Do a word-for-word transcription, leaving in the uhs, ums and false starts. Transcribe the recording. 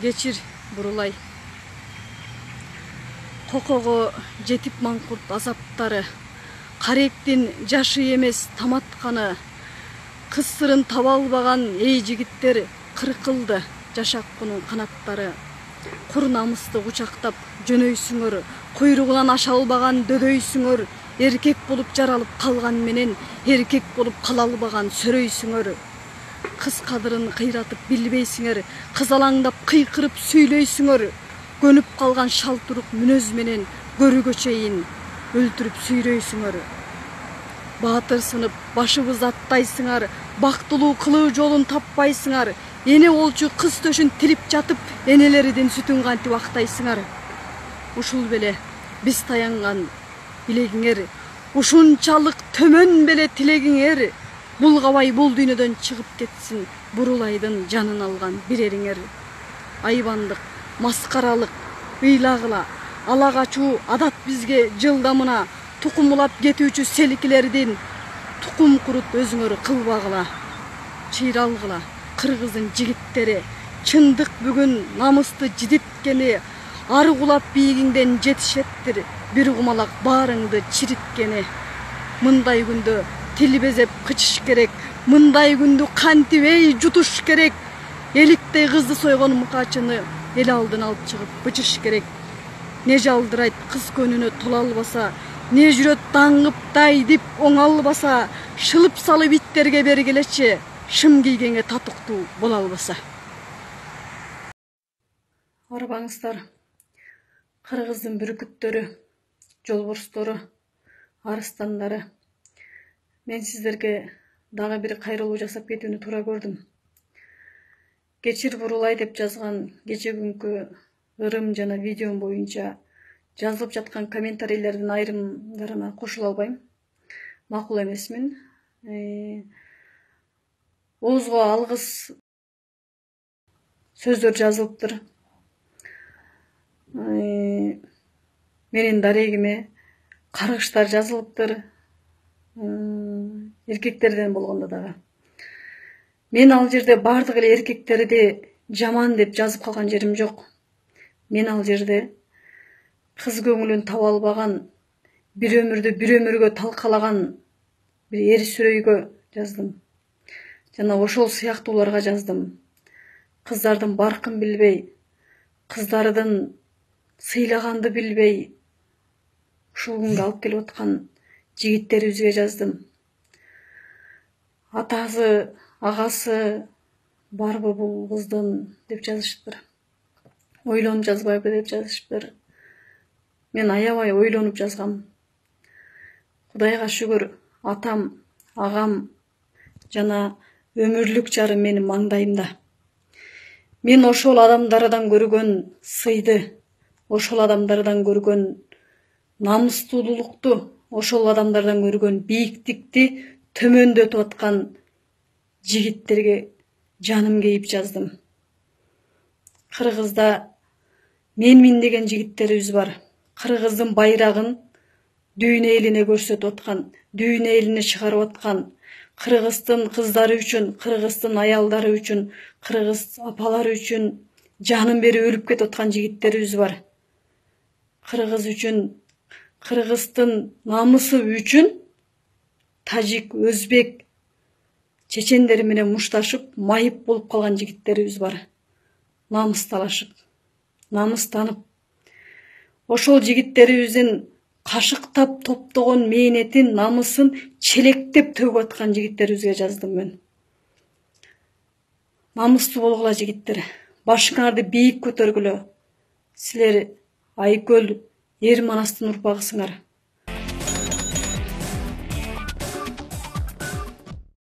Кечир Бурулай. Кокого жетип маңкурт азаптары, каректин жашы эмес таматканы, кыз сырын таба албаган эй жигиттер кыркылды жашак кунун канаттары. Кур намысты кучактап жөнөйсүңөр, куйругунан аша албаган дөдөйсүңөр, эркек болуп жаралып калган менен эркек болуп кала албаган сөрөйсүңөр. Кыз кадырын кыйратып билбейсиңер, кызалаңдап кыйкырып сүйлөйсүңөр. Көнүп калган шалтурук мүнөз менен көрүгө чейин өлтүрүп сүйрөйсүңөр. Баатыр сынып башыбыз аттайсыңар, бактылуу кылуу жолун таппайсыңар. Эне болчу кыз төшүн тилип жатып, энелеридин сүтүн кантип актайсыңар. Ушул беле биз таянган билегиңер, ушунчалык төмөн беле тилегиңер. Булгабай бул дүйнөдөн чыгып кетсин Бурулайдын жанын алган бирериңер. Айбандык, маскаралык, ыйлагыла, ала качуу адат бизге жылдамына, тукумулап кетүүчү селкилердин тукум курут өзүңөр кылбагыла. Чыйралгыла, кыргыздын жигиттери, чындык бүгүн намысты жидиткени, ары кулап бийигиңден жетишеттир бир кумалак баарыңды чириткени. Мындай күндө тил безеп кычыш керек, мындай күндү кантип эй жутуш керек. Эликтей кызды сойгон мукачыны эл алдына алып чыгып бычыш керек. Не жалдырайт кыз көнүнө тола албаса, не жүрөт даңгып дайдип оңалбаса, шылып салып иттерге бергилечи, шым кийгенге татыктуу боло албаса. Арбаңыздар, кыргыздын бүркүттөрү, жолборстору, арыстандары. Мен сиздерге дагы бир кайрылуу жасап кетүүнү туура көрдүм. Кечир Бурулай деп жазган кече күнкү ырым жана видеом боюнча жазылып жаткан комментарийлердин айрымдарына кошула албайм. Макул эмесмин. Оозго алгыс сөздөр жазылыптыр. Менин дарегиме каргыштар жазылыптыр. Эркектерден болгондо дагы. Мен ал жерде бардык эле эркектерди жаман деп жазып калган жерим жок. Мен ал жерде кыз көңүлүн таба албаган, бир өмүрдү бир өмүргө талкалаган бир эр сүрөйгө жаздым. Жана ошол сыяктууларга жаздым. Кыздардын баркын билбей, кыздардын сыйлаганды билбей, ушул күнгө алып келип аткан жигиттерибизге жаздым. Атасы, агасы барбы бул кыздын деп жазышыптыр. Ойлонуп жазбайбы деп жазышыптыр. Мен аябай ойлонуп жазгам. Кудайга шүгүр, атам, агам жана өмүрлүк жарым менин маңдайымда. Мен ошол адамдардан көргөн сыйды, ошол адамдардан көргөн намыстуулукту, ошол адамдардан көргөн бийиктикти төмөндөтүп аткан жигиттерге жаным кейип жаздым. Кыргызда менмин деген жигиттерибиз бар. Кыргыздын байрагын дүйнө элине көрсөтүп аткан, дүйнө элине чыгарып аткан, кыргыздын кыздары үчүн, кыргыздын аялдары үчүн, кыргыз апалары үчүн жанын берип өлүп кетип аткан жигиттерибиз бар. Кыргыз үчүн, кыргыздын намысы үчүн тажик, өзбек, чечендер менен мушташып, майып болуп калган жигиттерибиз бар. Намысталашып, намыстанып, ошол жигиттерибиздин кашыктап топтогон мээнетин, намысын челектеп төгүп аткан жигиттерибизге жаздым мен. Намыстуу болгула жигиттер, башыңарды бийик көтөргүлө. Силер Айкөл, Эр Манастын урпагысыңар.